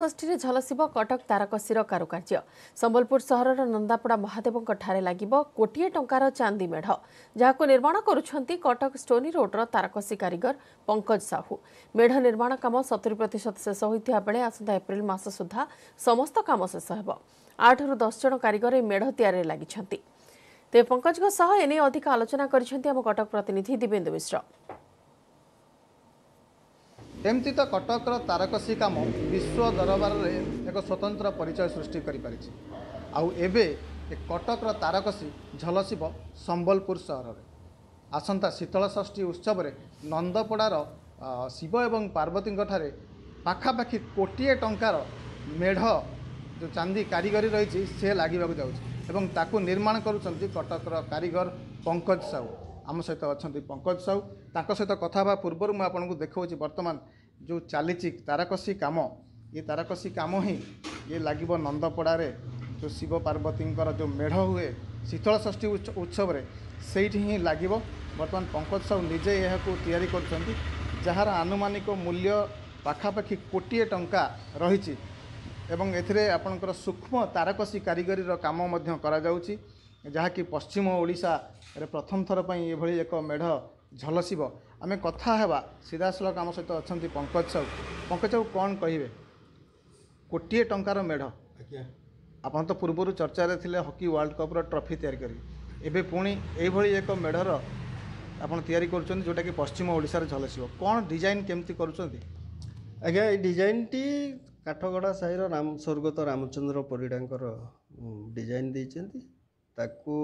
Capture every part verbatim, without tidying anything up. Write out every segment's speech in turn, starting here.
ଷଷ୍ଠୀରେ ଝଲସିବ କଟକ ତାରକସିର କାରୁକାର୍ଯ୍ୟ। ସମ୍ବଲପୁର ସହରର ନନ୍ଦାପଡ଼ା ମହାଦେବଙ୍କ ଠାରେ ଲାଗିବ କୋଟିଏ ଟଙ୍କାର ଚାନ୍ଦି ମେଢ଼, ଯାହାକୁ ନିର୍ମାଣ କରୁଛନ୍ତି କଟକ ଷ୍ଟୋନି ରୋଡର ତାରକସି କାରିଗର ପଙ୍କଜ ସାହୁ। ମେଢ଼ ନିର୍ମାଣ କାମ ସତୁରି ପ୍ରତିଶତ ଶେଷ ହୋଇଥିବା ବେଳେ ଆସନ୍ତା ଏପ୍ରିଲ ମାସ ସୁଦ୍ଧା ସମସ୍ତ କାମ ଶେଷ ହେବ। ଆଠରୁ ଦଶ ଜଣ କାରିଗର ଏହି ମେଢ଼ ତିଆରିରେ ଲାଗିଛନ୍ତି। ତେବେ ପଙ୍କଜଙ୍କ ସହ ଏନେଇ ଅଧିକ ଆଲୋଚନା କରିଛନ୍ତି ଆମ କଟକ ପ୍ରତିନିଧି ଦିବେନ୍ଦୁ ମିଶ୍ର। ଏମିତି ତ କଟକର ତାରକସି କାମ ବିଶ୍ୱ ଦରବାରରେ ଏକ ସ୍ୱତନ୍ତ୍ର ପରିଚୟ ସୃଷ୍ଟି କରିପାରିଛି, ଆଉ ଏବେ ଏ କଟକର ତାରକସି ଝଲସିବ ସମ୍ବଲପୁର ସହରରେ। ଆସନ୍ତା ଶୀତଳଷଷ୍ଠୀ ଉତ୍ସବରେ ନନ୍ଦପଡ଼ାର ଶିବ ଏବଂ ପାର୍ବତୀଙ୍କ ଠାରେ ପାଖାପାଖି କୋଟିଏ ଟଙ୍କାର ମେଢ଼, ଯେଉଁ ଚାନ୍ଦି କାରିଗରୀ ରହିଛି, ସେ ଲାଗିବାକୁ ଯାଉଛି ଏବଂ ତାକୁ ନିର୍ମାଣ କରୁଛନ୍ତି କଟକର କାରିଗର ପଙ୍କଜ ସାହୁ। ଆମ ସହିତ ଅଛନ୍ତି ପଙ୍କଜ ସାହୁ। ତାଙ୍କ ସହିତ କଥା ହେବା ପୂର୍ବରୁ ମୁଁ ଆପଣଙ୍କୁ ଦେଖାଉଛି ବର୍ତ୍ତମାନ ଯେଉଁ ଚାଲିଛି ତାରକସି କାମ। ଏ ତାରକସି କାମ ହିଁ ଇଏ ଲାଗିବ ନନ୍ଦପଡ଼ାରେ, ଯେଉଁ ଶିବ ପାର୍ବତୀଙ୍କର ଯେଉଁ ମେଢ଼ ହୁଏ ଶୀତଳଷଷ୍ଠୀ ଉତ୍ସବରେ, ସେଇଠି ହିଁ ଲାଗିବ। ବର୍ତ୍ତମାନ ପଙ୍କଜ ସାହୁ ନିଜେ ଏହାକୁ ତିଆରି କରୁଛନ୍ତି, ଯାହାର ଆନୁମାନିକ ମୂଲ୍ୟ ପାଖାପାଖି କୋଟିଏ ଟଙ୍କା ରହିଛି ଏବଂ ଏଥିରେ ଆପଣଙ୍କର ସୂକ୍ଷ୍ମ ତାରକସି କାରିଗରୀର କାମ ମଧ୍ୟ କରାଯାଉଛି, ଯାହାକି ପଶ୍ଚିମ ଓଡ଼ିଶାରେ ପ୍ରଥମ ଥର ପାଇଁ ଏଭଳି ଏକ ମେଢ଼ ଝଲସିବ। ଆମେ କଥା ହେବା ସିଧାସଳଖ, ଆମ ସହିତ ଅଛନ୍ତି ପଙ୍କଜ ସାହୁ। ପଙ୍କଜ ସାହୁ, କ'ଣ କହିବେ, କୋଟିଏ ଟଙ୍କାର ମେଢ଼? ଆଜ୍ଞା, ଆପଣ ତ ପୂର୍ବରୁ ଚର୍ଚ୍ଚାରେ ଥିଲେ ହକି ୱାର୍ଲଡ଼ କପ୍ର ଟ୍ରଫି ତିଆରି କରି, ଏବେ ପୁଣି ଏଇଭଳି ଏକ ମେଢ଼ର ଆପଣ ତିଆରି କରୁଛନ୍ତି ଯେଉଁଟାକି ପଶ୍ଚିମ ଓଡ଼ିଶାରେ ଝଲସିବ। କ'ଣ ଡିଜାଇନ୍ କେମିତି କରୁଛନ୍ତି? ଆଜ୍ଞା, ଏଇ ଡିଜାଇନଟି କାଠଗଡ଼ା ସାହିର ରାମ ସ୍ୱର୍ଗତ ରାମଚନ୍ଦ୍ର ପରିଡ଼ାଙ୍କର ଡିଜାଇନ୍ ଦେଇଛନ୍ତି। ତାକୁ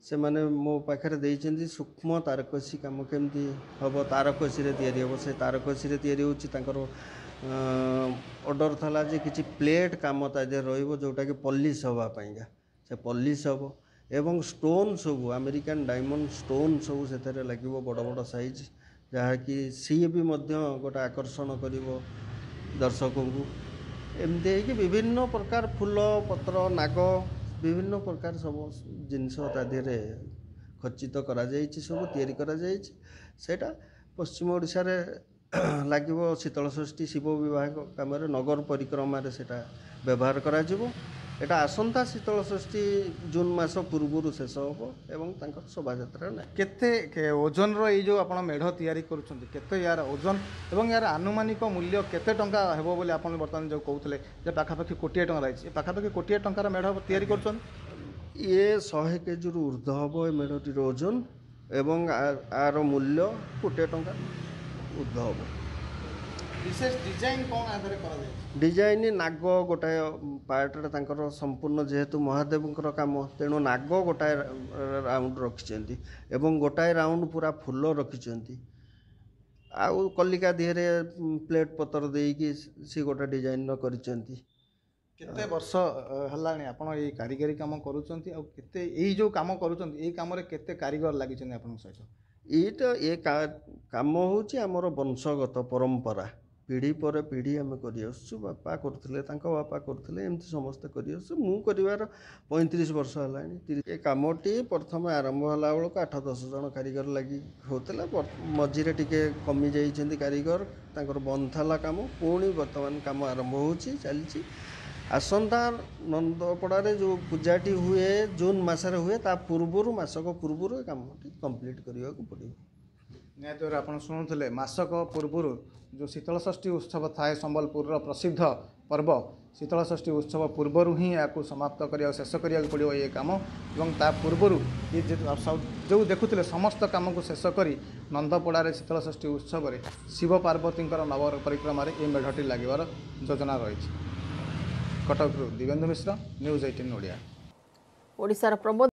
ସେମାନେ ମୋ ପାଖରେ ଦେଇଛନ୍ତି। ସୂକ୍ଷ୍ମ ତାରକସି କାମ କେମିତି ହେବ, ତାରକସିରେ ତିଆରି ହେବ, ସେ ତାରକସିରେ ତିଆରି ହେଉଛି। ତାଙ୍କର ଅର୍ଡ଼ର ଥିଲା ଯେ କିଛି ପ୍ଲେଟ୍ କାମ ତା ଦେହରେ ରହିବ, ଯେଉଁଟାକି ପଲିସ୍ ହେବା ପାଇଁକା, ସେ ପଲିସ୍ ହେବ ଏବଂ ଷ୍ଟୋନ୍ ସବୁ ଆମେରିକାନ୍ ଡାଇମଣ୍ଡ ଷ୍ଟୋନ୍ ସବୁ ସେଥିରେ ଲାଗିବ, ବଡ଼ ବଡ଼ ସାଇଜ୍, ଯାହାକି ସିଏ ବି ମଧ୍ୟ ଗୋଟେ ଆକର୍ଷଣ କରିବ ଦର୍ଶକଙ୍କୁ। ଏମିତି ହେଇକି ବିଭିନ୍ନ ପ୍ରକାର ଫୁଲ ପତ୍ର, ନାଗ, ବିଭିନ୍ନ ପ୍ରକାର ସବୁ ଜିନିଷ ତା ଦେହରେ ଖଚିତ କରାଯାଇଛି, ସବୁ ତିଆରି କରାଯାଇଛି। ସେଇଟା ପଶ୍ଚିମ ଓଡ଼ିଶାରେ ଲାଗିବ ଶୀତଳଷଷ୍ଠୀ ଶିବ ବିବାହ କାମରେ, ନଗର ପରିକ୍ରମାରେ ସେଇଟା ବ୍ୟବହାର କରାଯିବ। ଏଇଟା ଆସନ୍ତା ଶୀତଳଷଷ୍ଠୀ ଜୁନ୍ ମାସ ପୂର୍ବରୁ ଶେଷ ହେବ ଏବଂ ତାଙ୍କର ଶୋଭାଯାତ୍ରା ନାହିଁ। କେତେ ଓଜନର ଏଇ ଯେଉଁ ଆପଣ ମେଢ଼ ତିଆରି କରୁଛନ୍ତି, କେତେ ୟାର ଓଜନ ଏବଂ ୟାର ଆନୁମାନିକ ମୂଲ୍ୟ କେତେ ଟଙ୍କା ହେବ ବୋଲି ଆପଣ ବର୍ତ୍ତମାନ ଯେଉଁ କହୁଥିଲେ ଯେ ପାଖାପାଖି କୋଟିଏ ଟଙ୍କା ରହିଛି, ଏ ପାଖାପାଖି କୋଟିଏ ଟଙ୍କାର ମେଢ଼ ତିଆରି କରୁଛନ୍ତି? ଇଏ ଶହେ କେଜିରୁ ଉର୍ଦ୍ଧ୍ୱ ହେବ ଏ ମେଢ଼ଟିର ଓଜନ ଏବଂ ଆର ମୂଲ୍ୟ କୋଟିଏ ଟଙ୍କା ଉର୍ଦ୍ଧ୍ୱ ହେବ। ବିଶେଷ ଡିଜାଇନ୍ କ'ଣ ଆଧାରରେ କରାଯାଇଛି? ଡିଜାଇନ୍ ନାଗ ଗୋଟାଏ ପାର୍ଟରେ ତାଙ୍କର ସମ୍ପୂର୍ଣ୍ଣ, ଯେହେତୁ ମହାଦେବଙ୍କର କାମ, ତେଣୁ ନାଗ ଗୋଟାଏ ରାଉଣ୍ଡ ରଖିଛନ୍ତି ଏବଂ ଗୋଟାଏ ରାଉଣ୍ଡ ପୁରା ଫୁଲ ରଖିଛନ୍ତି, ଆଉ କଲିକା ଦେହରେ ପ୍ଲେଟ୍ ପତ୍ର ଦେଇକି ସେ ଗୋଟେ ଡିଜାଇନ୍ର କରିଛନ୍ତି। କେତେ ବର୍ଷ ହେଲାଣି ଆପଣ ଏଇ କାରିଗରୀ କାମ କରୁଛନ୍ତି, ଆଉ କେତେ ଏଇ ଯେଉଁ କାମ କରୁଛନ୍ତି, ଏଇ କାମରେ କେତେ କାରିଗର ଲାଗିଛନ୍ତି ଆପଣଙ୍କ ସହିତ? ଏଇଟା ଏ କାମ ହେଉଛି ଆମର ବଂଶଗତ ପରମ୍ପରା, ପିଢ଼ି ପରେ ପିଢ଼ି ଆମେ କରିଆସୁଛୁ। ବାପା କରୁଥିଲେ, ତାଙ୍କ ବାପା କରୁଥିଲେ, ଏମିତି ସମସ୍ତେ କରିଆସୁଛୁ। ମୁଁ କରିବାର ପଇଁତିରିଶ ବର୍ଷ ହେଲାଣି। ଏ କାମଟି ପ୍ରଥମେ ଆରମ୍ଭ ହେଲା ବେଳକୁ ଆଠ ଦଶ ଜଣ କାରିଗର ଲାଗି ହେଉଥିଲା। ମଝିରେ ଟିକେ କମି ଯାଇଛନ୍ତି କାରିଗର, ତାଙ୍କର ବନ୍ଦ ଥିଲା କାମ। ପୁଣି ବର୍ତ୍ତମାନ କାମ ଆରମ୍ଭ ହେଉଛି, ଚାଲିଛି। ଆସନ୍ତା ନନ୍ଦପଡ଼ାରେ ଯେଉଁ ପୂଜାଟି ହୁଏ, ଜୁନ୍ ମାସରେ ହୁଏ, ତା ପୂର୍ବରୁ, ମାସକ ପୂର୍ବରୁ ଏ କାମଟି କମ୍ପ୍ଲିଟ୍ କରିବାକୁ ପଡ଼ିବ। ନିହାତି ଭାବରେ ଆପଣ ଶୁଣୁଥିଲେ, ମାସକ ପୂର୍ବରୁ ଯେଉଁ ଶୀତଳଷଷ୍ଠୀ ଉତ୍ସବ ଥାଏ, ସମ୍ବଲପୁରର ପ୍ରସିଦ୍ଧ ପର୍ବ ଶୀତଳଷଷ୍ଠୀ ଉତ୍ସବ ପୂର୍ବରୁ ହିଁ ଏହାକୁ ସମାପ୍ତ କରିବାକୁ, ଶେଷ କରିବାକୁ ପଡ଼ିବ ଏ କାମ ଏବଂ ତା ପୂର୍ବରୁ ଇଏ ଯେଉଁ ଦେଖୁଥିଲେ ସମସ୍ତ କାମକୁ ଶେଷ କରି ନନ୍ଦପଡ଼ାରେ ଶୀତଳଷଷ୍ଠୀ ଉତ୍ସବରେ ଶିବ ପାର୍ବତୀଙ୍କର ନବ ପରିକ୍ରମାରେ ଏ ମେଢ଼ଟି ଲାଗିବାର ଯୋଜନା ରହିଛି। କଟକରୁ ଦିବେନ୍ଦୁ ମିଶ୍ର, ନ୍ୟୁଜ୍ ଏଇଟିନ୍ ଓଡ଼ିଆ। ଓଡ଼ିଶାର ପ୍ରମୋଦ